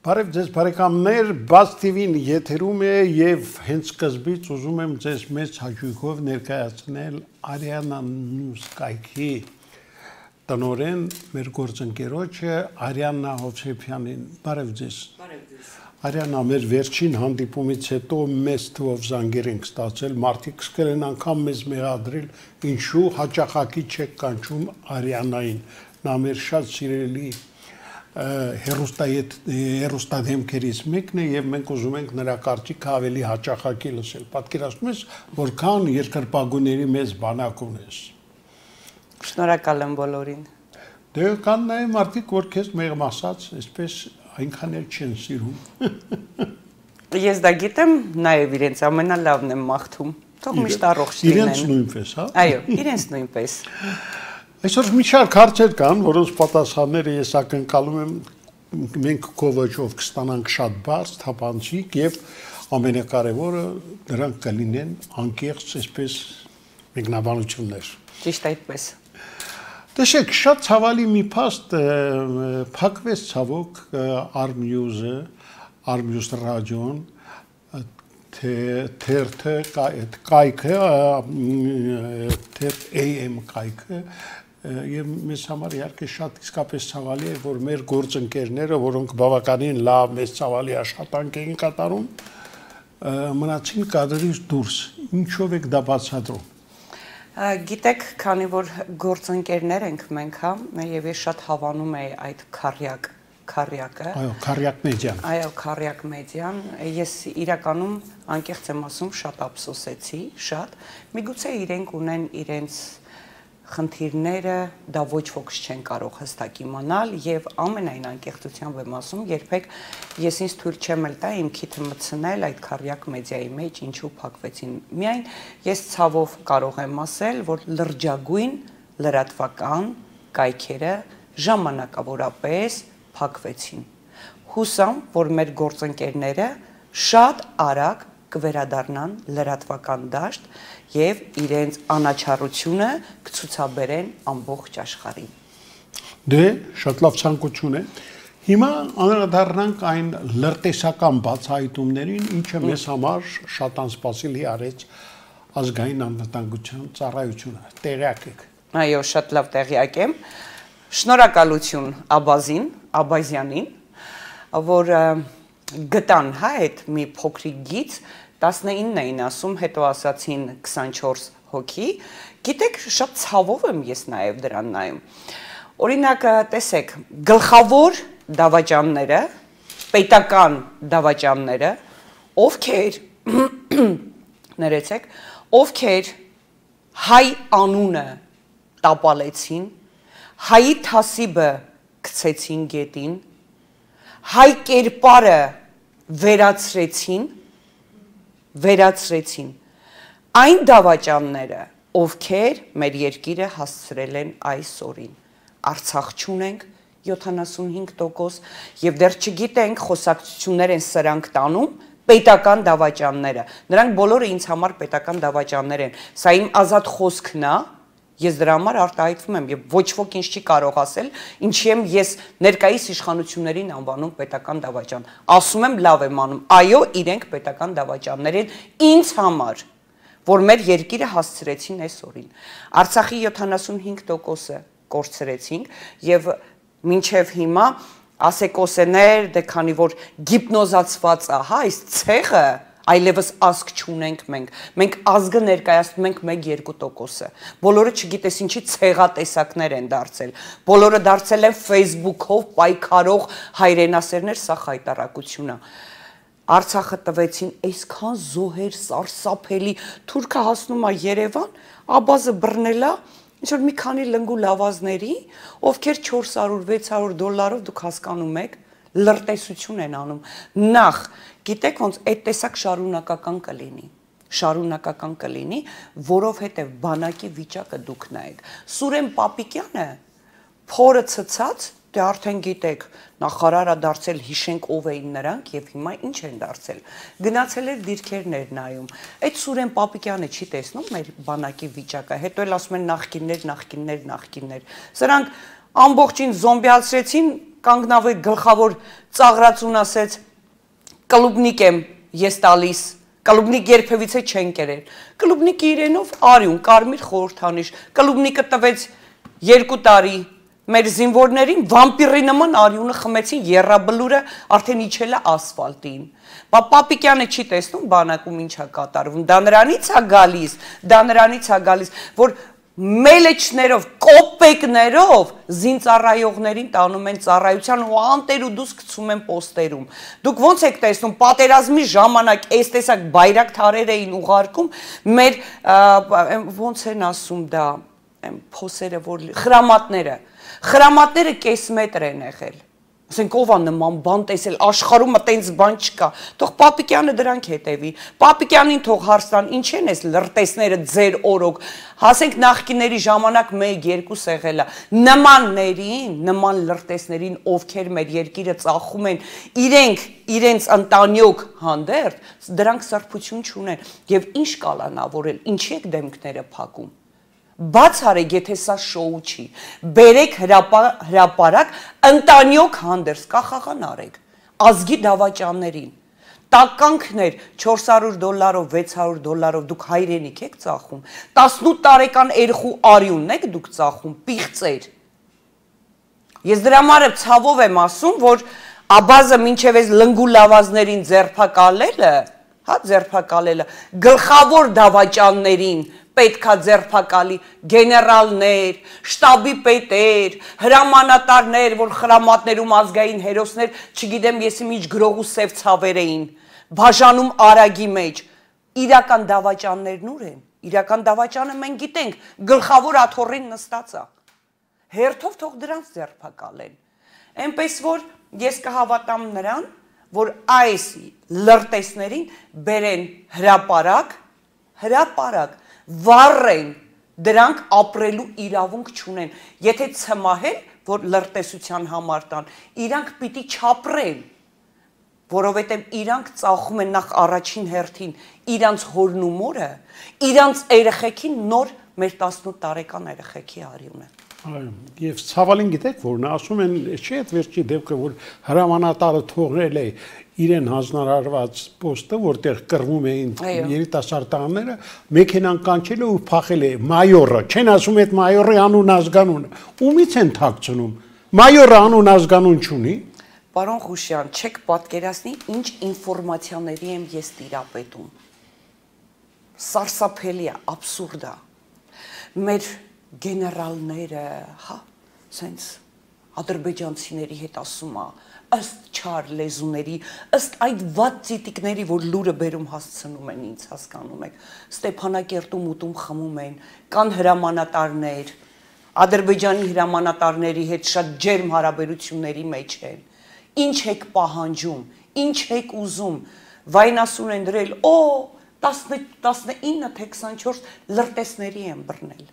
Բարև ձեզ բարեկամներ, Բաց TV-ն եթերում է եւ հենց սկզբից ուզում եմ ձեզ մեծ հաճույքով ներկայացնել Արիանա News կայքի տնօրեն մեր գործընկերոջը Արիանա Հովսեփյանին։ Բարև ձեզ։ Բարև ձեզ։ Արիանա, մեր վերջին հանդիպումից հետո մեծ թվով զանգեր ենք ստացել, մարդիկ սկսել են անգամ մեզ մեղադրել, ինչու հաճախակի չեք կանչում Արիանային։ Նա մեր շատ սիրելի հերոստադեմքերից մեկն է եւ մենք ուզում ենք նրա կարծիքը ավելի հաճախակի լսել։ Պատկերացնում ես, որքան երկրպագուների մեծ բանակ ունես։ Շնորհակալ եմ բոլորին։ Դե կան նաեւ մարդիկ, որ քեզ մեղմ ասած, այսպես այնքան էլ չեն սիրում։ Ես դա գիտեմ, նաեւ իրենց ամենալավն եմ մաղթում։ Թող միշտ առողջ լինեն։ Իրենց նույնպես, հա։ Այո, իրենց նույնպես։ Այսօր մի շարք հարցեր կան, որոնց պատասխանները ես ակնկալում եմ մենք քո ոճով կստանանք շատ բարձ, թափանցիկ եւ ամենակարևորը դրանք կլինեն անկեղծ, այսպես մեկնաբանություններ։ Ճիշտ այդպես։ Տեսեք, շատ ցավալի մի փաստ փակվեց ցավոք Armnews-ը, Armnews ռադիոն, թերթը կայքը, AM կայքը եւ մեզ համար իհարկե շատ իսկապես ցավալի է, որ մեր գործընկերները, որոնք բավականին լավ մեծ ցավալի աշխատանք էին կատարում, մնացին կադրից դուրս։ Ինչով եք դա բացատրում։ Գիտեք, քանի որ գործընկերներ ենք մենք, հա, եւ ես շատ հավանում եմ այդ քարյակը։ Այո, քարյակ մեդիան։ Այո, քարյակ մեդիան։ Ես իրականում անկեղծ եմ ասում, շատ ափսոսեցի, շատ։ Միգուցե իրենք ունեն իրենց խնդիրները, դա ոչ ոք չեն կարող հստակ իմանալ եւ ամենայն անկեղծությամբ եմ ասում, երբեք ես ինձ թույլ չեմ տա իմ քիթը մտցնել այդ քարյակ մեդիայի մեջ, ինչու փակվեցին։ Միայն ես ցավով կարող եմ ասել, որ լրջագույն լրատվական կայքերը ժամանակավորապես փակվեցին։ Հուսամ, որ մեր գործընկերները շատ արագ կվերադառնան լրատվական դաշտ եւ իրենց անաչառությունը կցուցաբերեն ամբողջ աշխարհին։ Դե, շատ լավ ցանկություն է։ Հիմա անդրադառնանք այն լրտեսական բացահայտումներին, ինչը մեզ համար շատ անսպասելի արեց ազգային անվտանգության ծառայությունը։ Տեղյակ եք։ Այո, շատ լավ տեղյակ եմ։ Շնորհակալություն Աբազյանին, որ գտան հա այդ մի փոքրիկ գիծ 19 էին ասում, հետո ասացին 24 հոգի։ Գիտեք, շատ ցավով եմ ես նաև դրան նայում։ Օրինակ, տեսեք, գլխավոր դավաճանները, պետական դավաճանները, ովքեր ներեցեք, ովքեր հայ անունը տապալեցին, հայի թասիբը գցեցին գետին, հայ կերպարը վերացրեցին այն դավաճանները, ովքեր մեր երկիրը հասցրել են այս օրին։ Արցախ չունենք 75% եւ դեռ չգիտենք խոսակցություններ են սրանք տանում պետական դավաճանները։ Նրանք բոլորը ինձ համար պետական դավաճաններ են։ Սա իմ ազատ խոսքն է։ Ես դրա համար արտահայտվում եմ եւ ոչ ոք ինձ չի կարող ասել, ինչի եմ ես ներկայիս իշխանություններին անվանում պետական դավաճան։ Ասում եմ լավ եմ անում։ Այո, իրենք պետական դավաճաններ են ինձ համար, որ մեր երկիրը հասցրեցին այս օրին։ Արցախի 75%-ը կորցրեցինք եւ մինչեւ հիմա ասեկոսեներ, դե քանի որ գիպնոզացված է, հա, այս ցեղը այլևս ազգ չունենք մենք ազգը ներկայացնում ենք 1-2%-ը, բոլորը չգիտես ինչի ցեղատեսակներ են դարձել, բոլորը դարձել են Facebook-ով պայքարող հայրենասերներ, սա խայտարակություն է, Արցախը տվեցին այսքան զոհեր, սարսափելի, թուրքը հասնում է Երևան, Աբազը բռնել է, ինչ-որ մի քանի լնգու լավազների, ովքեր $400-600 դուք հասկանում եք, լրտեսություն են անում, նախ, գիտեք ոնց այդ տեսակ շարունակական կլինի, որովհետև բանակի վիճակը դուք նայեք, Սուրեն Պապիկյանը փորը ցցած, դե արդեն գիտեք, նախարարը դարձել հիշենք ով էին նրանք եւ հիմա ինչ են դարձել, գնացել էր դիրքերներ նայում, այդ Սուրեն Պապիկյանը չի տեսնում մեր բանակի վիճակը, հետո էլ ասում են նախկիններ, սրանք ամբողջին զոմբիացրեցին, կանգնավեր գլխավոր ծաղրացուն ասեց կլուբնիկ եմ ես տալիս կլուբնիկ երբևիցե չեն կերել կլուբնիկի իրենով արյուն կարմիր խորհրդանիշ կլուբնիկը տվեց 2 տարի մեր զինվորներին վամպիրի նման արյունը խմեցին եռաբլուրը արդեն իջել է ասֆալտին բա Պապիկյանը չի տեսնում բանակում ինչա կատարվում դա նրանից է գալիս որ մելեչներով կոպեկներով զինծառայողներին տանում են ծառայության ու անտեր ու դուս գցում են պոստերում դուք ոնց եք տեսնում պատերազմի ժամանակ այս տեսակ բայրակթարեր էին ուղարկում մեր ոնց են ասում դա փոսերը որ խրամատները կես մետր են եղել ասենք ով է նման բան տեսել աշխարհում տենց բան չկա թող Պապիկյանը դրանք հետևի Պապիկյանին թող հարց տան ինչ են այս լրտեսները ձեր օրոք հասենք նախկինների ժամանակ 1-2 եղել է նման լրտեսներին ովքեր մեր երկիրը ծախում են իրենց ընտանյոք հանդերձ դրանք սրբություն չունեն եւ ինչ կալանավորել ինչի եք դեմքները փակում Բաց արեք, եթե սա շոու չի, բերեք հրապարակ, ընտանյոք հանդերձ, կախաղան արեք, ազգի դավաճաններին, տականքներ $400, $600, դուք հայրենիք եք ծախում, 18 տարեկան երեխու արյունն եք դուք ծախում, պիղծեր, ես դրա համար ցավով եմ ասում, որ Աբազը մինչև այս լնգու լավազներին ձերբակալելը, գլխավոր դավաճաններին պետքա ձերբակալի գեներալներ, շտաբի պետեր, հրամանատարներ, որ խրամատներում ազգային հերոսներ, չգիտեմ եսի միջ գրողու սև ցավեր էին, բաժանում արագի մեջ, իրական դավաճաններն ուր են, իրական դավաճանը մենք գիտենք, գլխավոր աթոռին նստած է, հերթով թող դրանց ձերբակալեն, այնպես որ ես կհավատամ նրան, որ այս լրտեսներին բերեն հրապարակ, վառեն, դրանք ապրելու իրավունք չունեն, եթե ցմահել, որ լրտեսության համար տան, իրանք պիտի չապրեն, որովհետև իրանք ծախում են նախ առաջին հերթին իրանց հորն ու մորը, իրանց երեխեքին նոր մեր 18 տարեկան երեխեքի արյունը։ Եվ ցավալին գիտեք, որ նա ասում են, չի այդ վերջի դեպքը, որ հրամանատարը թողնել է իրեն հանձնարարված պոստը, որտեղ կռվում էին երիտասարդ տղաները, մեքենան կանչել է ու փախել է մայորը, չեն ասում այդ մայորի անուն ազգանունը, ումից են թաքցնում, մայորը անուն ազգանուն չունի։ Պարոն Խուշյան, չեք պատկերացնի, ինչ ինֆորմացիաների եմ ես տիրապետում։ Սարսափելի է, աբսուրդ է։ Մեր գեներալները, սենց ադրբեջանցիների հետ ասում է, ըստ չար լեզուների, ըստ այդ վատ ծիտիկների, որ լուրը բերում հասցնում են ինձ, հասկանում եք, Ստեփանակերտում ուտում խմում են, կան հրամանատարներ, Ադրբեջանի հրամանատարների հետ շատ ջերմ հարաբերությունների մեջ են, ինչ եք պահանջում, ինչ եք ուզում, վայնասուն են դրել, 19 թե 24 լրտեսների են բռնել։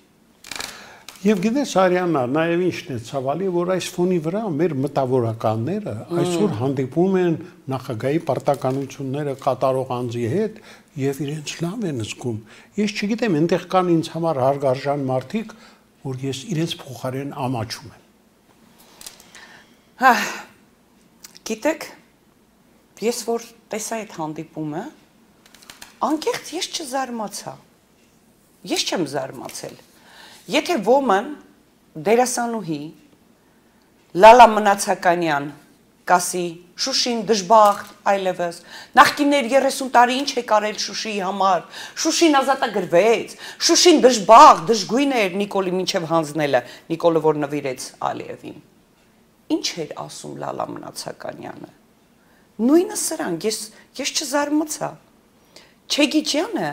Եվ գիտես Արիաննա, նաև ինչն է ցավալի, որ այս ֆոնի վրա մեր մտավորականները այսօր հանդիպում են նախագահի պարտականությունները կատարող անձի հետ եւ իրենց լավ են զգում։ Ես չգիտեմ, այնտեղ կան ինձ համար հարգարժան մարդիկ, որ ես իրենց փոխարեն ամաչում եմ։ Գիտեք, ես որ տեսա այդ հանդիպումը, անկեղծ ես չզարմացա։ Ես չեմ զարմացել։ Եթե ոմն դերասանուհի Լալա Մնացականյան կասի Շուշին դժբախտ այլևս նախկիներ 30 տարի ինչ է կարել Շուշիի համար Շուշին ազատագրվեց Շուշին դժբախտ դժգույն էր Նիկոլի մինչև հանձնելը Նիկոլը որ նվիրեց Ալիևին Ինչ էր ասում Լալա Մնացականյանը Նույնը սրանք ես չզարմացա Չեգիջյանը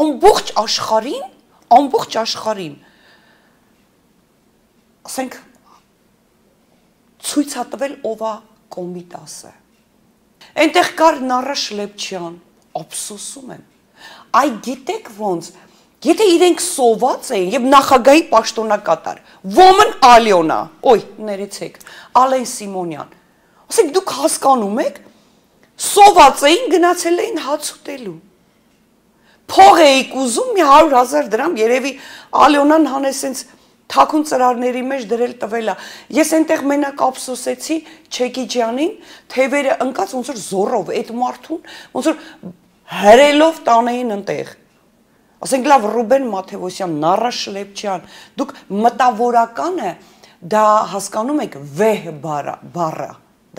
ամբողջ աշխարհին ասենք ցույց է տվել ով է Կոմիտասը այնտեղ կար Նառա Շլեպչյան ափսոսում եմ այ գիտեք ոնց եթե իրենք սոված էին եւ նախագահի պաշտոնակատար Ոմն Ալյոնա ներեցեք Ալեն Սիմոնյան ասենք դուք հասկանում եք սոված էին գնացել էին հաց ուտելու փող էիք ուզում մի 100,000 դրամ երևի Ալյոնան հանես sense թաքուն ծրարների մեջ դրել տվել է։ Ես այնտեղ մենակ ափսոսեցի Չեկիջյանին, թևերը ընկած ոնց որ զորով այդ մարդուն, ոնց որ հրելով տանեին ընտեղ։ Ասենք լավ Ռուբեն Մաթևոսյան, Նառա Շլեպչյան, դուք մտավորականը դա հասկանում եք վեհ բառը,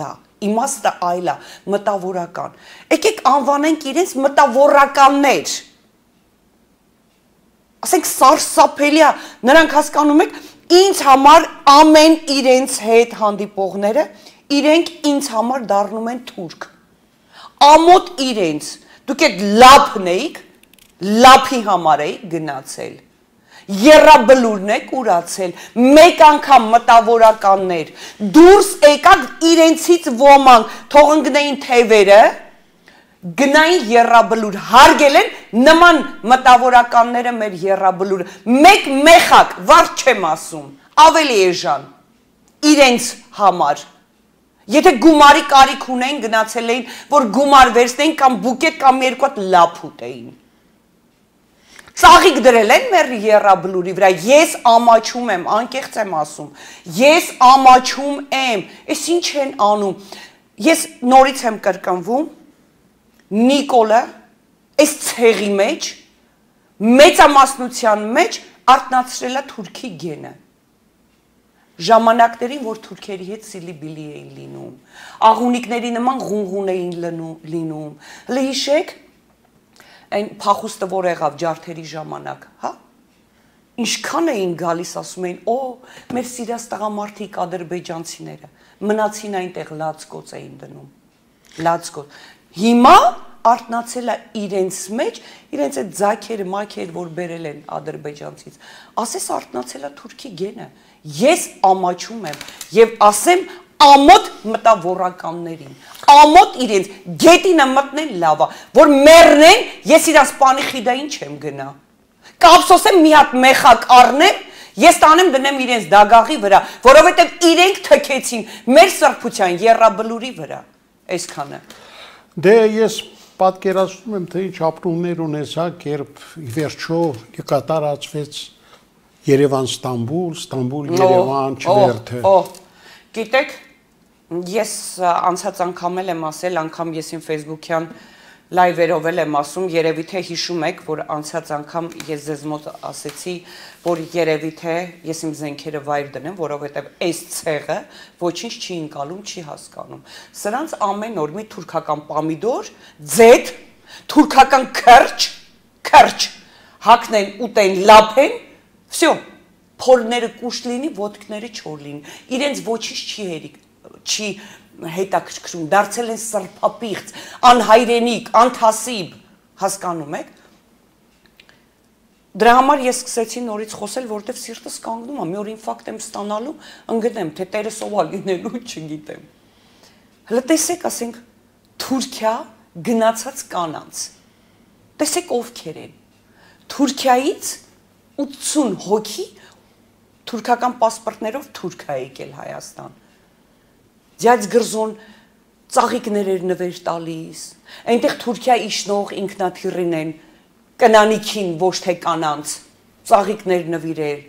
դա իմաստը այլ է, մտավորական։ Եկեք անվանենք իրենց մտավորականներ։ Ասենք սարսափելի է, նրանք հասկանում եք, ինձ համար ամեն իրենց հետ հանդիպողները, իրենք ինձ համար դառնում են թուրք։ Ամոթ իրենց, դուք այդ լափն էիք, լափի համար էիք գնացել։ Եռաբլուրն եք ուրացել, մեկ անգամ մտավորականներ, դուրս եկակ իրենցից ոմանք, թող ընկնեին թևերը, գնային եռաբլուր, հարգել են նման մտավորականները մեր եռաբլուրը, մեկ մեխակ, վարդ չեմ ասում, ավելի էժան, իրենց համար, եթե գումարի կարիք ունեին, գնացել էին, որ գումար վերցնեին կամ բուկետ կամ երկու հատ լափ ուտեին, ծաղիկ դրել են մեր եռաբլուրի վրա, ես ամաչում եմ, անկեղծ եմ ասում, ես ամաչում եմ, ես ինչ են անում, ես նորից եմ կրկնվում, Նիկոլը, այս ցեղի մեջ, մեծամասնության մեջ արտնացրել է թուրքի գենը։ Ժամանակներին, որ թուրքերի հետ սիլիբիլի էին լինում, աղունիկների նման ղունղուն էին լինում, հլը հիշեք, այն փախուստը որ եղավ ջարդերի ժամանակ, հա? Ինչքան էին գալիս ասում էին, օ, մեր սիրած տղամարդիկ ադրբեջանցիները, մնացին այնտեղ լացկոց էին դնում, լացկոց, հիմա արտնացել է իրենց մեջ, իրենց այդ ձակերը, մակեր, որ բերել են ադրբեջանցից, ասես արտնացել է թուրքի գենը, ես ամաչում եմ և ասեմ ամոթ մտավորականներին, ամոթ իրենց, գետինը մտնեն լավա, որ մեռնեն, ես իրաց պանիխիդային չեմ գնա, կապսոսեմ մի հատ մեխակ առնեմ, ես տանեմ դնեմ իրենց դագաղի վրա, որովհետև իրենք թքեցին մեր սրբության եռաբլուրի վրա, այսքանը։ Դե ես պատկերացնում եմ, թե ինչ ապրումներ ունեցաք, երբ ի վերջո կատարածվեց Երևան-Ստամբուլ, Ստամբուլ-Երևան չվերթը։ Գիտեք, ես անցած անգամ եմ ասել, անգամ ես իմ Facebook-յան լայվերով եմ ասում, երևի թե հիշում եք, որ անցած անգամ ես ձեզ մոտ ասեցի, որ երևի թե ես իմ զենքերը վայր դնեմ, որովհետև այս ցեղը ոչինչ չի ընկալում, չի հասկանում։ Սրանց ամեն օր մի թուրքական պամիդոր, ձեթ, թուրքական քրչ, հագնեն, ուտեն, լափեն, վсё, փորները կուշտ լինի, ոտքները չոր լինի։ Իրենց ոչինչ չի հետաքրքրում, դարձել են սրբապիղծ, անհայրենիք, անթասիբ, հասկանում եք։ Դրա համար ես սկսեցի նորից խոսել, որովհետև սիրտս կանգնում է, մի օր ինֆարկտ եմ ստանալու, ընկնեմ, թե տերս ով է լինելու, չգիտեմ։ Հələ տեսեք, ասենք, Թուրքիա գնացած կանանց։ Տեսեք ովքեր են։ Թուրքիայից 80 հոգի թուրքական պասպորտներով Թուրքիա եկել Հայաստան։ Ձյաձ գրզոն ծաղիկներ էր նվեր տալիս, այնտեղ Թուրքիա իշխնող ինքնաթիռին են, կնանիքին ոչ թե կանանց, ծաղիկներ նվիրել,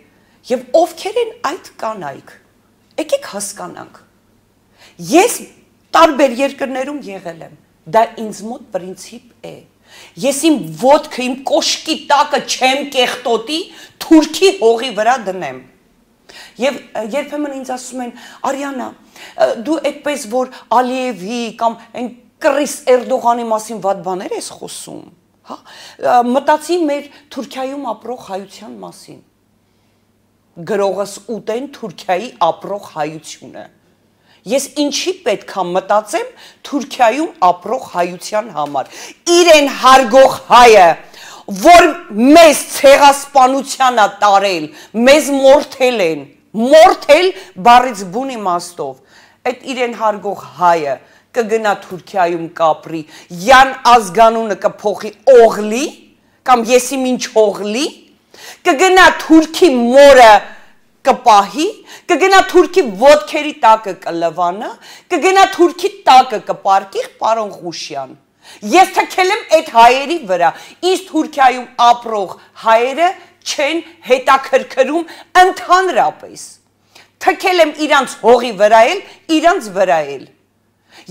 և ովքեր են այդ կանայք, եկեք հասկանանք, ես տարբեր երկրներում եղել եմ, դա ինձ մոտ պրինցիպ է, ես իմ ոտքը, իմ կոշկի տակը չեմ կեղտոտի, Թուրքի հողի վրա դնեմ, և երբեմն ինձ ասում են, Արիանա, դու այդպես որ Ալիևի կամ այն կռիս Էրդողանի մասին վատ բաներ ես խոսում, մտածի մեր Թուրքիայում ապրող հայության մասին, գրողս ուտեն Թուրքիայի ապրող հայությունը, ես ինչի պետք է մտածեմ Թուրքիայում ապրող հայության համար, իրեն հարգող հայը, որ մեզ ցեղասպանության է տարել, մեզ մորթել են, մորթել բառից բուն իմաստով, այդ իրեն հարգող հայը կգնա Թուրքիայում կապրի, յան ազգանունը կփոխի օղլի, կամ եսիմ ինչ օղլի, կգնա Թուրքի մորը կպահի, կգնա Թուրքի ոտքերի տակը կլվանա, կգնա Թուրքի տակը կպարկի պարոն Ղուշյան։ Ես թքել եմ այդ հայերի վրա, ինձ Թուրքիայում ապրող հայերը չեն հետաքրքրում ընդհանրապես։ Թքել եմ իրանց հողի վրա էլ, իրանց վրա էլ։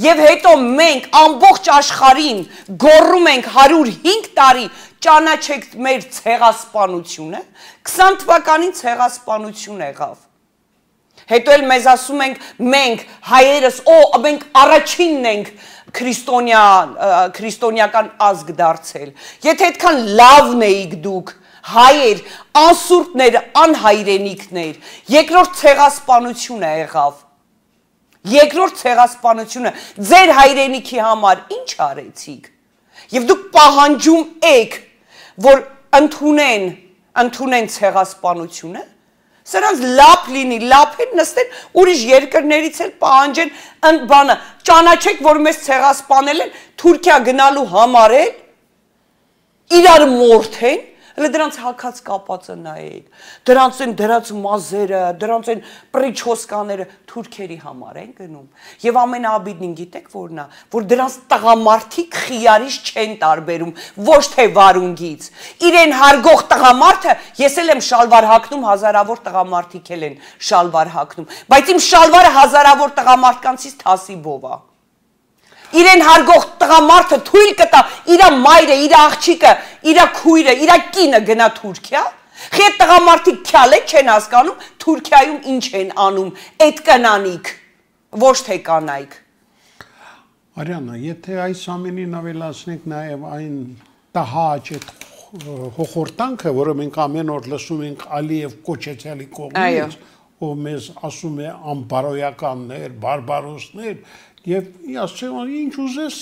Եվ հետո մենք ամբողջ աշխարհին գոռում ենք 105 տարի ճանաչեք մեր ցեղասպանությունը, 20 թվականին ցեղասպանություն եղավ։ Հետո էլ մեզ ասում ենք մենք հայերս, մենք առաջինն ենք քրիստոնեական ազգ դարձել։ Եթե այդքան լավն էիք դուք, հայեր, անսուրբներ, անհայրենիքներ, երկրորդ ցեղասպանությունը եղավ։ Երկրորդ ցեղասպանությունը ձեր հայրենիքի համար ինչ արեցիք։ Եվ դուք պահանջում եք, որ ընդունեն ցեղասպանությունը, սրանց լապ լինի, լապեն նստեն ուրիշ երկրներից էլ պահանջեն բանը, ճանաչեք, որ մեզ ցեղասպանել են, Թուրքիա գնալու համար են, իրար մորթեն, հələ դրանց հակած կապածը նայեք, դրանց են դրած մազերը, դրանց են պրիչոսկաները թուրքերի համար են գնում։ Եվ ամենաաբիդնին գիտեք որն է, որ դրանց տղամարդիկ խիարից չեն տարբերում, ոչ թե վարունգից։ Իրեն հարգող տղամարդը, ես էլ եմ շալվար հագնում, հազարավոր տղամարդիկ էլ են շալվար հագնում, բայց իմ շալվարը հազարավոր տղամարդկանցից թասիբով է։ Իրեն հարգող տղամարդը թույլ կտա իր մայրը, իր աղջիկը, իր քույրը, իր կինը գնա Թուրքիա։ Խետ տղամարդիկ քյալեք չեն հասկանում Թուրքիայում ինչ են անում, այդ կանանիք, ոչ թե կանայք։ Արիանա, եթե այս ամենին ավելացնենք նաև այն տհաճ այդ հոխորտանքը, որը մենք ամեն օր լսում ենք Ալիև կոչեցյալի կողմից, ով մեզ ասում է անբարոյականներ, բարբարոսներ, եւ ասում ինչ ուզես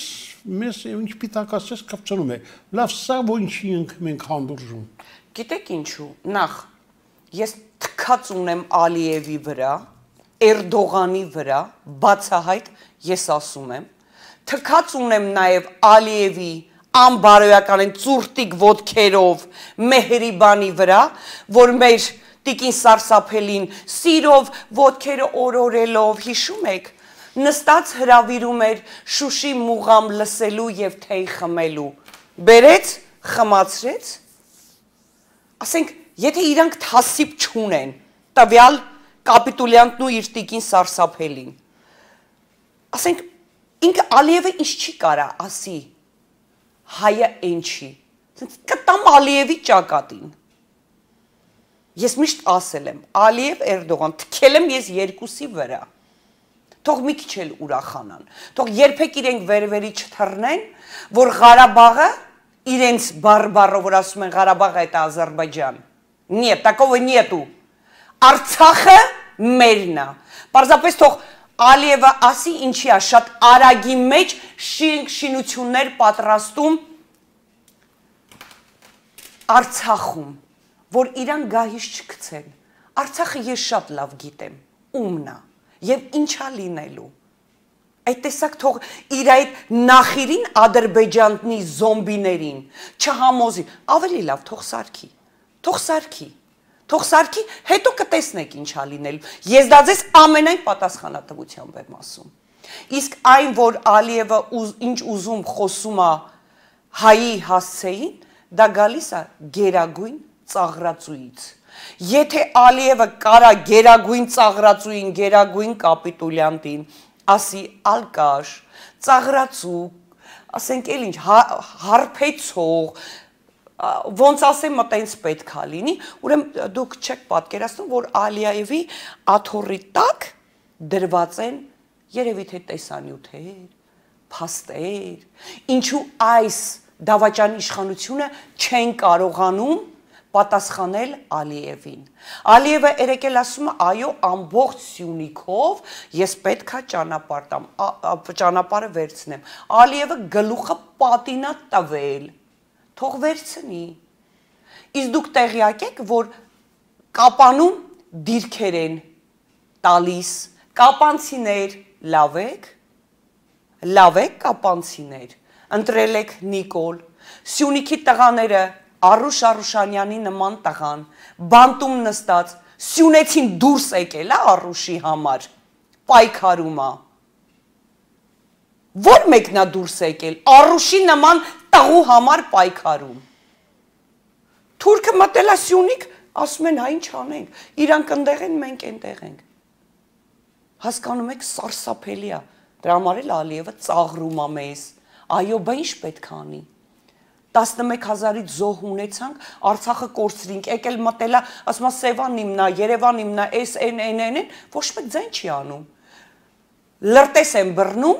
մեզ ինչ պիտակացես կապցնում է լավ սա ոչինչ մենք հանդուրժում գիտեք ինչու նախ ես թքած ունեմ Ալիևի վրա Էրդողանի վրա բացահայտ ես ասում եմ թքած ունեմ նաեւ Ալիևի անբարոյական ծուրտիկ ոտքերով Մեհրիբանի վրա որ մեր տիկին սարսափելին սիրով ոտքերը օրորելով հիշում եք նստած հրավիրում էր Շուշի մուղամ լսելու եւ թեյ խմելու։ Բերեց, խմացրեց։ Ասենք, եթե իրանք թասիբ չունեն, տվյալ կապիտուլյանտն ու իր տիկին սարսափելին։ Ասենք, ինքը Ալիևը ինչ չի կարա ասի։ Հայը այն չի։ Կտամ Ալիևի ճակատին։ Ես միշտ ասել եմ, Ալիև Էրդողան, թքել եմ ես երկուսի վրա։ Թող մի քիչ էլ ուրախանան, թող երբեք իրենք վեր-վերի չթռնեն, որ Ղարաբաղը իրենց բարբարով որ ասում են Ղարաբաղը это Ադրբեջան։ Нет, такого нету։ Արցախը մերն է։ Պարզապես թող Ալիևը ասի ինչի է շատ արագի մեջ շինություններ պատրաստում Արցախում, որ իրան գահից չգցեն։ Արցախը ես շատ լավ գիտեմ, ումն է։ Եվ ինչա լինելու։ Այդ տեսակ թող իր այդ նախիրին ադրբեջանտնի զոմբիներին չհամոզի, ավելի լավ թող սարքի, հետո կտեսնեք ինչա լինելու։ Ես դա ձեզ ամենայն պատասխանատվությամբ եմ ասում։ Իսկ այն, որ Ալիևը ինչ ուզում խոսում է հայի հասցեին, դա գալիս է գերագույն ծաղրածուից։ Եթե Ալիևը կարա գերագույն ծաղրածուին, գերագույն կապիտուլյանտին, ասի ալկաշ, ծաղրածու, ասենք էլ ինչ, հարբեցող, ոնց ասեմ մտենց պետք է լինի, ուրեմն դուք չեք պատկերացնում, որ Ալիևի աթոռի տակ դրված են երևի թե տեսանյութեր, փաստեր, ինչու այս դավաճանի իշխանությունը չեն կարողանում պատասխանել Ալիևին։ Ալիևը երեկել ասում է, այո, ամբողջ Սյունիքով ես պետքա ճանապարհը վերցնեմ։ Ալիևը գլուխը պատինա տվել, թող վերցնի։ Իսկ դուք տեղյակ եք, որ Կապանում դիրքեր են տալիս, կապանցիներ, լավ եք կապանցիներ, ընտրել եք Նիկոլ, Սյունիքի տղաները Արուշ Արուշանյանի նման տղան, բանտում նստած, Սյունեցին դուրս եկել է Արուշի համար, պայքարում է։ Որ մեկն է դուրս եկել, Արուշի նման տղու համար պայքարում։ Թուրքը մտել է Սյունիք, ասում են, հա ինչ անենք, իրանք ընդեղ են, մենք այնտեղ ենք։ Հասկանում եք, սարսափելի է։ Դրա համար էլ Ալիևը ծաղրում է մեզ։ Այո, բա ինչ պետք է անի։ 11,000-ից զոհ ունեցանք, Արցախը կորցրինք, եկել մտելա, ասում է Սևան իմնա, Երևան իմնա, այն, ոչ մեկ ձայն չի անում։ Լրտես են բռնում,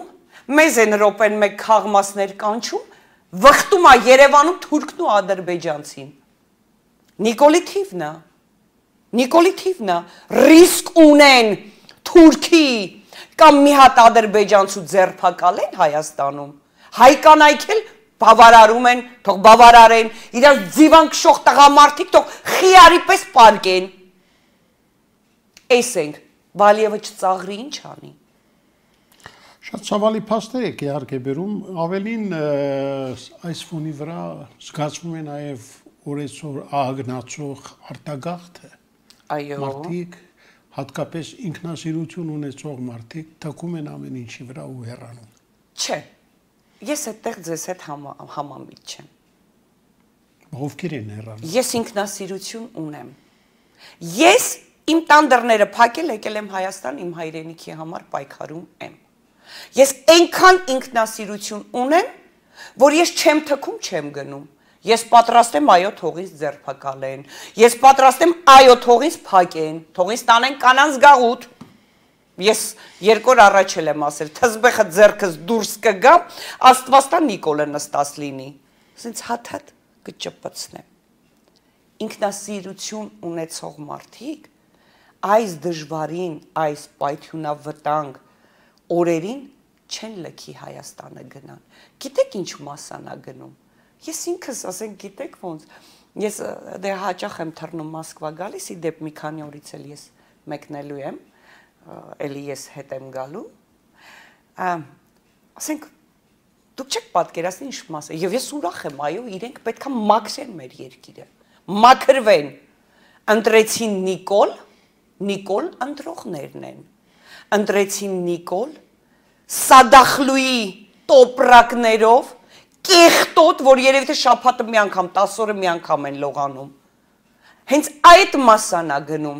մեզ են րոպեն մեկ խաղմասներ կանչում, վխտում է Երևանում թուրքն ու ադրբեջանցին։ Նիկոլի թիվնա, ռիսկ ունեն Թուրքի կամ մի հատ ադրբեջանցու ձերբակալեն Հայաստանում, հայ կանայք էլ բավարարում են, թող բավարարեն, իրար ձիվան քշող տղամարդիկ թող խիարի պես պարկեն։ Էս ենք, Բալիևը չծաղրի ինչ անի։ Շատ ցավալի փաստեր եք իհարկե բերում, ավելին այս ֆոնի վրա զգացվում է նաև օրեցօր ագնացող արտագաղթը։ Այո։ Մարդիկ հատկապես ինքնասիրություն ունեցող մարդիկ թքում են ամեն ինչի վրա ու հեռանում։ Չէ, ես այդտեղ ձեզ հետ համամիտ չեմ։ Ովքեր են հեռանում։ Ես ինքնասիրություն ունեմ։ Ես իմ տան դռները փակել եկել եմ Հայաստան իմ հայրենիքի համար պայքարում եմ։ Ես այնքան ինքնասիրություն ունեմ, որ ես չեմ թքում, չեմ գնում։ Ես պատրաստ եմ այո թողից ձերբակալեն, ես պատրաստ եմ այո թողից փակեն, թողից տանեն կանանց գաղութ։ Ես 2 օր առաջ եմ ասել, թզբեխը ձերքս դուրս կգամ, Աստվածտա Նիկոլը նստած լինի։ Ասենց հատ կճպցնեմ։ Ինքնասիրություն ունեցող մարդիկ այս դժվարին, այս պայթյունավտանգ օրերին չեն լքի Հայաստանը գնան։ Գիտեք ինչ մասանա գնում։ Ես ինքս ասենք գիտեք ոնց, ես դե հաճախ եմ թռնում Մոսկվա գալիս, ի դեպ մի քանի օրից էլ ես մեկնելու եմ, էլի ես հետ եմ գալու, ասենք դուք չեք պատկերացնի ինչ մասը, եւ ես ուրախ եմ, այո, իրենք պետքա մաքրեն մեր երկիրը, մաքրվեն, ընտրեցին Նիկոլ ընտրողներն են, ընտրեցին Նիկոլ, Սադախլուի տոպրակներով, կեղտոտ, որ երևի թե շաբաթը մի անգամ, 10 օրը մի անգամ են լողանում։ Հենց այդ մասանա գնում,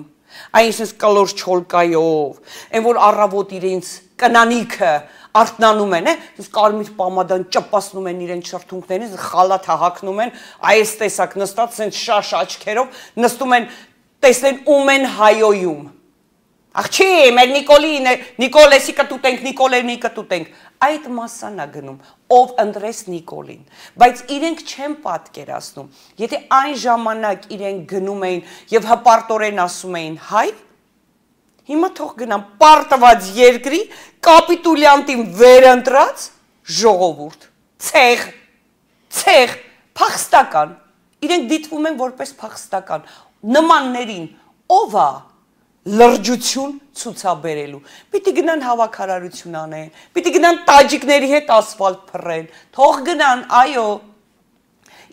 այնպես կլոր չոլկայով, այն որ առավոտ իրենց կնանիքը արթնանում են, կարմիր պամադան ճպասնում են իրենց շրթունքներին, խալաթ հագնում են, այս տեսակ նստած, սենց շաշ աչքերով, նստում են, տեսնեն ում են հայոյում։ Ախ չի, մեր Նիկոլեսի կտուտենք, Նիկոլենի կտուտենք, այդ մասանա գնում, ով ընտրեց Նիկոլին, բայց իրենք չեն պատկերացնում, եթե այն ժամանակ իրենք գնում էին և հպարտորեն ասում էին հայ, հիմա թող գնամ պարտված երկրի, կապիտուլյանտին վերընտրած ժողովուրդ, ցեղ, փախստական, իրենք դիտվում են որպես փախստական, նմաններին, ով է լրջություն ցուցաբերելու, պիտի գնան հավաքարարություն անեն, պիտի գնան տաջիկների հետ ասֆալտ փռեն, թող գնան, այո,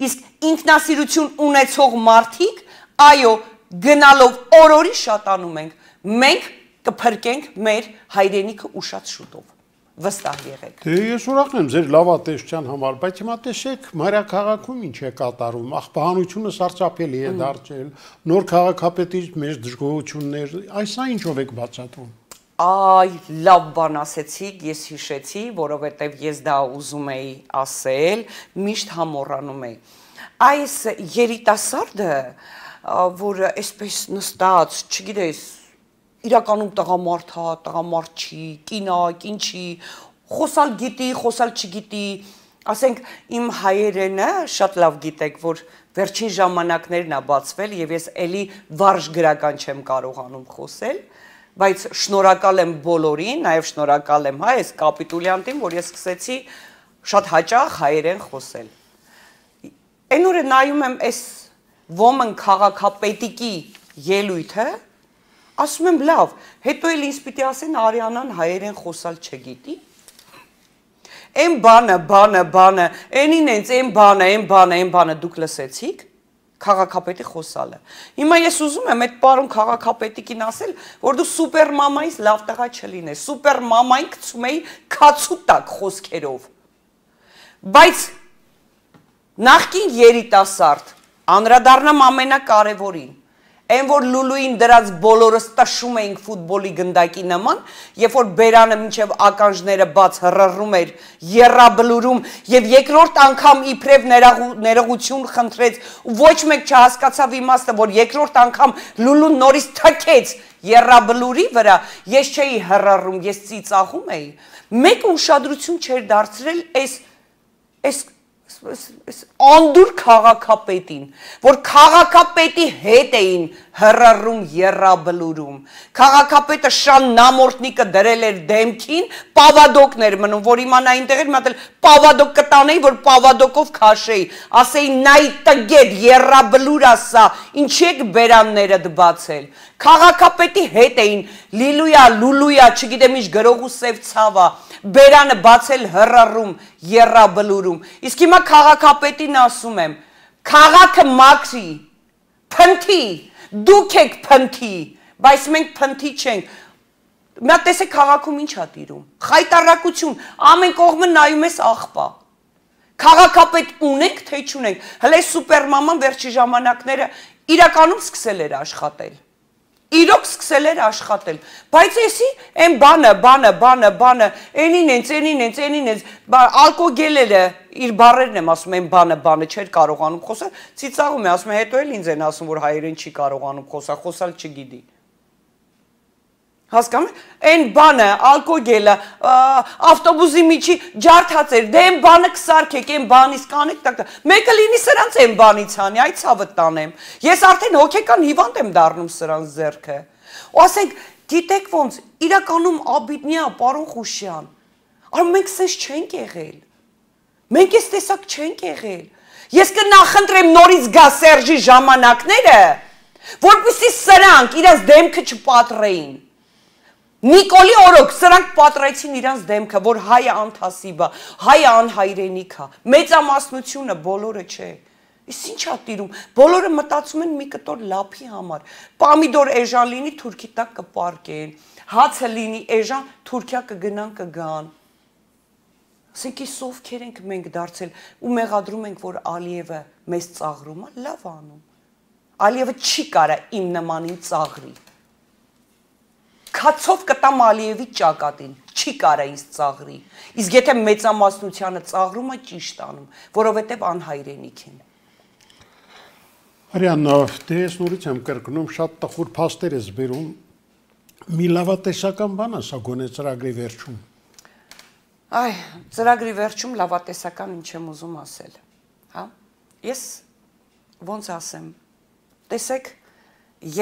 իսկ ինքնասիրություն ունեցող մարդիկ, այո, գնալով օրորի շատանում ենք, մենք կփրկենք մեր հայրենիքը ուշած շուտով, վստահ եղեք։ Դե ես ուրախ եմ ձեր լավատեսչության համար, բայց հիմա տեսեք մայրաքաղաքում ինչ է կատարում, աղբահանությունը սարսափելի է դարձել, նոր քաղաքապետից մեծ դժգոհություններ, այսա ինչով եք բացատրում։ Այ, լավ բան ասեցիք, ես հիշեցի, որովհետև ես դա ուզում էի ասել, միշտ համոռանում էի։ Այս երիտասարդը, որ այսպես նստած, չգիտես, իրականում տղամարդ չի, կինա, կին չի, խոսալ գիտի, խոսալ չգիտի, ասենք իմ հայերենը շատ լավ գիտեք, որ վերջին ժամանակներն է բացվել եւ ես էլի վարժ գրական չեմ կարողանում խոսել, բայց շնորհակալ եմ բոլորին, նաեւ շնորհակալ եմ այս կապիտուլյանտին, որ ես սկսեցի շատ հաճախ հայերեն խոսել։ Այն օրը նայում եմ այս ոմն քաղաքապետիկի ելույթը, ասում եմ լավ, հետո էլ ինձ պիտի ասեն Արիանան հայերեն խոսալ չգիտի։ Այն բանը, այնին ենք, այն բանը դուք լսեցիք, քաղաքապետի խոսալը։ Հիմա ես ուզում եմ այդ պարոն քաղաքապետիկին ասել, որ դու սուպեր մամայից լավ տղա չլինես, սուպեր մամային գցում էի քացու տակ խոսքերով։ Բայց նախկին երիտասարդ Անդրադառնամ ամենակարևորին։ Այն որ Լուլուին դրած բոլորս տշում էինք ֆուտբոլի գնդակի նման, երբ որ Բերանը մինչև ականջները բաց հռռում էր, եռաբլուրում եւ երկրորդ անգամ իբրև ներողություն խնդրեց ու ոչ մեկ չհասկացավ իմաստը, որ երկրորդ անգամ Լուլուն նորից թքեց եռաբլուրի վրա, ես չէի հռռում, ես ծիծաղում էի։ Մեկ ուշադրություն չէր դարձրել այս անդուր քաղաքապետին, որ քաղաքապետի հետ էին հռռում եռաբլուրում։ Քաղաքապետը շան նամորտնիկը դրել էր դեմքին, պավադոկներ մնում, որ իմանա այնտեղ էր մտել, պավադոկ կտանեի, որ պավադոկով քաշեի, ասեի նայ տգետ եռաբլուր ասա, ինչի եք բերաններդ բացել։ Քաղաքապետի հետ էին լուլույա, չգիտեմ ինչ գրող ու սև ցավա, Բերանը բացել հռռում, եռաբլուրում։ Իսկ հիմա քաղաքապետին ասում եմ, քաղաքը մաքրի, փնթի, դուք եք փնթի, բայց մենք փնթի չենք։ Մի հատ տեսեք քաղաքում ինչ ա տիրում։ Խայտարակություն, ամեն կողմը նայում ես աղբա։ Քաղաքապետ ունենք, թե չունենք։ Հələ սուպերմաման վերջի ժամանակները իրականում սկսել էր աշխատել։ Իրոք սկսել էր աշխատել, բայց էսի այն բանը, ենին ենք, ալկոգելերը իր բառերն եմ ասում, այն բանը չէր կարողանում խոսալ, ծիծաղում է, ասում է, հետո էլ ինձ են ասում, որ հայերեն չի կարողանում խոսալ չգիտի։ Հասկանում եք, այն բանը, ալկոգելը, ավտոբուսի միջի ջարդած էր, դե այն բանը կսարքեք, այն բանից կանեք, մեկը լինի սրանց այն բանից հանի, այդ ցավը տանեմ, ես արդեն հոգեկան հիվանդ եմ դառնում սրանց ձեռքը, ու ասենք, գիտեք ոնց, իրականում աբիդնյա, պարոն Խուշյան, արմ մենք սենց չենք եղել, մենք ես տեսակ չենք եղել, ես կնախընտրեմ նորից գա Սերժի ժամանակները, որպեսզի սրանք իրենց դեմքը չպատրեին, Նիկոլի օրոք սրանք պատրեցին իրանց դեմքը, որ հայը անթասիբ է, հայը անհայրենիք է, մեծամասնությունը բոլորը չէ։ Իսկ ինչ ա տիրում, բոլորը մտածում են մի կտոր լափի համար, պամիդոր էժան լինի թուրքի տակ կպարկեն, հացը լինի էժան Թուրքիա կգնան կգան։ Ասենք այս ովքեր ենք մենք դարձել ու մեղադրում ենք, որ Ալիևը մեզ ծաղրում է, լավ անում։ Ալիևը չի կարա իմ նմանին ծաղրի։ Քացով կտամ Ալիևի ճակատին, չի կարա ինձ ծաղրի, իսկ եթե մեծամասնությանը ծաղրում է ճիշտ անում, որովհետև անհայրենիք են։ Արյան, դե ես նորից եմ կրկնում, շատ տխուր փաստեր ես բերում, մի լավատեսական բան ասա գոնե ծրագրի վերջում։ Այ, ծրագրի վերջում լավատեսական ինչ եմ ուզում ասել, հա, ես ոնց ասեմ, տեսեք,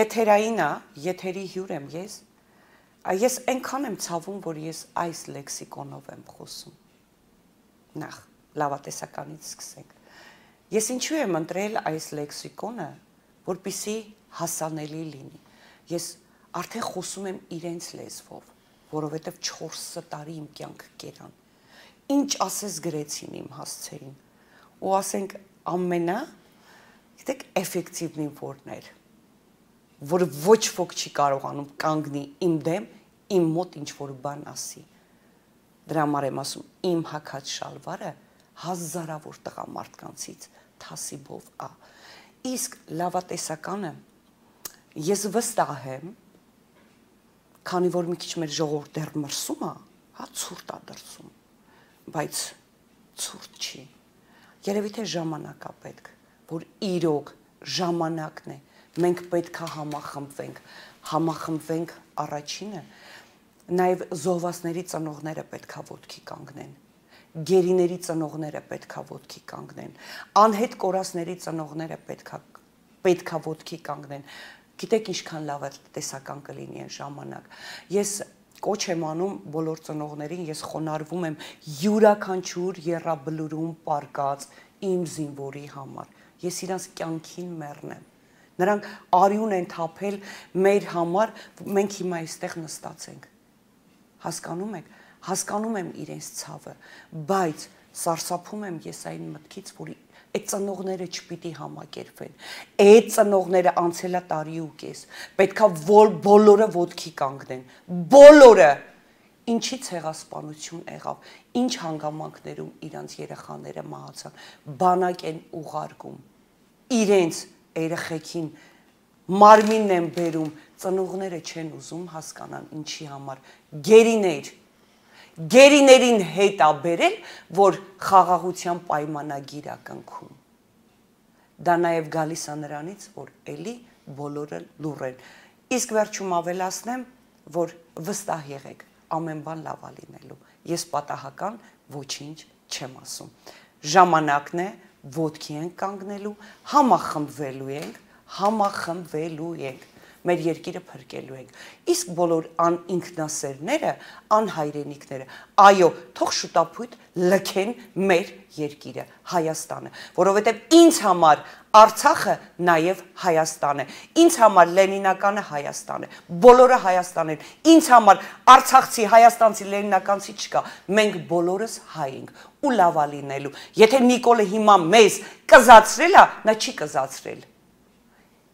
եթերային է, եթերի հյուր եմ ես այնքան եմ ցավում, որ ես այս լեքսիկոնով եմ խոսում։ Նախ, լավատեսականից սկսենք։ Ես ինչու եմ ընտրել այս լեքսիկոնը, որպեսզի հասանելի լինի։ Ես արդեն խոսում եմ իրենց լեզվով, որովհետև 4 տարի իմ կյանքը կերան։ Ինչ ասես գրեցին իմ հասցեին։ Ու ասենք գիտեք, էֆեկտիվնին որն էր, որ ոչ ոք չի կարողանում կանգնի իմ դեմ, իմ մոտ ինչ-որ բան ասի։ Դրա համար եմ ասում, իմ հագած շալվարը հազարավոր տղամարդկանցից թասիբով է։ Իսկ լավատեսականը ես վստահ եմ, քանի որ մի քիչ մեր ժողովուրդ դեռ մրսում է, հա ցուրտ է դրսում, բայց ցուրտ չի։ Երևի թե ժամանակ է պետք, որ իրոք ժամանակն է, մենք պետք է համախմբվենք առաջինը, նաև զոհվածների ծնողները պետք է ոտքի կանգնեն, գերիների ծնողները պետք է ոտքի կանգնեն, անհետ կորածների ծնողները պետք է ոտքի կանգնեն, գիտեք ինչքան լավ է տեսական կլինի այն ժամանակ, ես կոչ եմ անում բոլոր ծնողներին, ես խոնարհվում եմ յուրաքանչյուր եռաբլուրում պարկած իմ զինվորի համար, ես իրանց կյանքին մեռնեմ, նրանք արյուն են թափել մեր համար, մենք հիմա այստեղ նստած ենք, հասկանում եք, հասկանում եմ իրենց ցավը, բայց սարսափում եմ ես այն մտքից, որ այդ ծնողները չպիտի համակերպվեն, այդ ծնողները անցելա տարի ու կես, պետքա բոլորը ոտքի կանգնեն, բոլորը, ինչի ցեղասպանություն եղավ, ինչ հանգամանքներում իրանց երեխաները մահացան, բանակ են ուղարկում, իրենց երեխեքին մարմինն են բերում, ծնողները չեն ուզում հասկանան ինչի համար, գերիներին հետ ա բերել, որ խաղաղության պայմանագիր ա կնքում։ Դա նաև գալիս է նրանից, որ էլի բոլորը լուռ են։ Իսկ վերջում ավելացնեմ, որ վստահ եղեք, ամեն բան լավ ա լինելու։ Ես պատահական ոչինչ չեմ ասում։ Ժամանակն է, ոտքի ենք կանգնելու, համախմբվելու ենք, մեր երկիրը փրկելու ենք։ Իսկ բոլոր անինքնասերները, անհայրենիքները, այո, թող շուտապույտ լքեն մեր երկիրը, Հայաստանը, որովհետև ինձ համար Արցախը նաև Հայաստան է, ինձ համար լենինականը Հայաստան է, բոլորը Հայաստան են, ինձ համար արցախցի, հայաստանցի, լենինականցի չկա, մենք բոլորս հայ ենք ու լավ ա լինելու։ Եթե Նիկոլը հիմա մեզ կզացրել ա, նա չի կզացրել։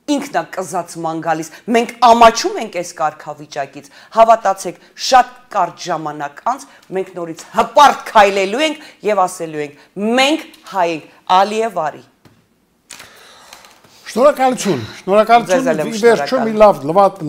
Ինքն է կզացման գալիս, մենք ամաչում ենք այս կարգավիճակից, հավատացեք, շատ կարճ ժամանակ անց մենք նորից հպարտ քայլելու ենք եւ ասելու ենք, մենք հայ ենք, Ալիև արի։ Շնորհակալություն, վերջում մի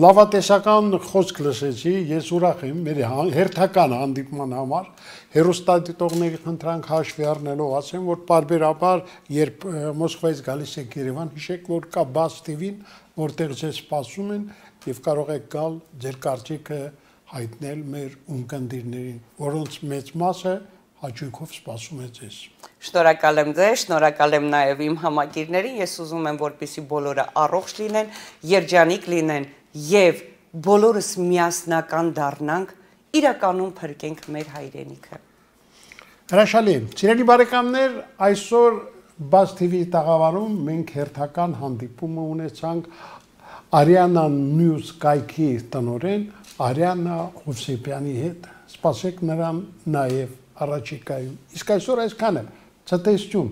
լավատեսական խոսք լսեցի, ես ուրախ եմ մեր հերթական հանդիպման համար, հեռուստադիտողների խնդրանք հաշվի առնելով ասեմ, որ պարբերաբար, երբ Մոսկվայից գալիս եք Երևան, հիշեք, որ կա Buzz TV-ն, որտեղ ձեզ սպասում են եւ կարող եք գալ ձեր կարծիքը հայտնել մեր ունկնդիրներին, որոնց մեծ մասը հաճույքով սպասում է ձեզ։ Շնորհակալ եմ ձեզ, շնորհակալ եմ նաև իմ համակիրներին, ես ուզում եմ, որպեսզի բոլորը առողջ լինեն, երջանիկ լինեն եւ բոլորս միասնական դառնանք, իրականում փրկենք մեր հայրենիքը։ Հրաշալի, սիրելի բարեկամներ, այսօր Buzz TV-ի տաղավարում մենք հերթական հանդիպումը ունեցանք Ariana News կայքի տնօրեն Ariana Hovsepian-ի հետ։ Սպասեք նրան նաև առաջիկայում։ Իսկ այսօր այսքանը, ցտեսություն։